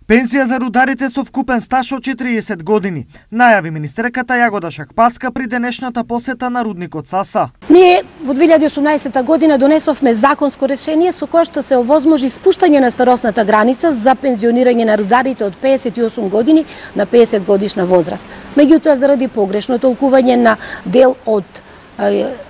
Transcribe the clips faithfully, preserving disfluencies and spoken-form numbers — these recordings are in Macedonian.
Пензија за рударите со вкупен стаж од четириесет години, најави министерката Јагода Шахпаска при денешната посета на рудникот Саса. Ние во две илјади и осумнаесета година донесовме законско решение со кое што се овозможи спуштање на старосната граница за пензионирање на рударите од пеесет и осум години на пеесет годишна возраст. Меѓутоа, заради погрешно толкување на дел од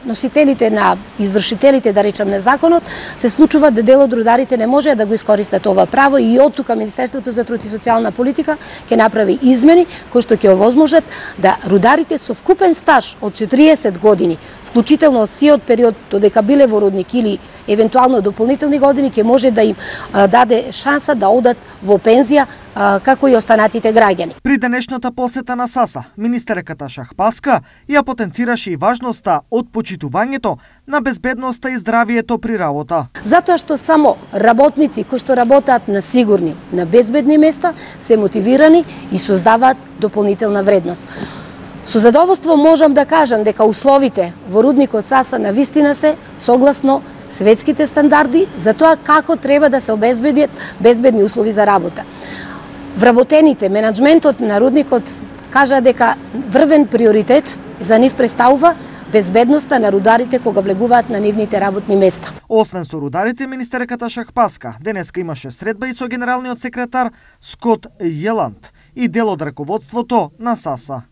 носителите на извршителите, да речам, на законот, се случува да дел од рударите не може да го искористат ова право и од тука Министерството за труд и социјална политика ќе направи измени кои што ќе овозможат да рударите со вкупен стаж од четириесет години, вклучително од сиот период додека биле во рудник или евентуално дополнителни години, ќе може да им даде шанса да одат во пензија како и останатите граѓани. При денешната посета на Саса, министерката Шахпаска ја потенцираше и важноста од почитувањето на безбедноста и здравието при работа. Затоа што само работници кои што работат на сигурни, на безбедни места, се мотивирани и создаваат дополнителна вредност. Со задоволство можам да кажам дека условите во рудникот Саса навистина се согласно светските стандарди за тоа како треба да се обезбедат безбедни услови за работа. Вработените, менаџментот на рудникот кажа дека врвен приоритет за нив представува безбедноста на рударите кога влегуваат на нивните работни места. Освен со рударите, министерката Шахпаска денеска имаше средба и со генералниот секретар Скот Јеланд и дел од раководството на Саса.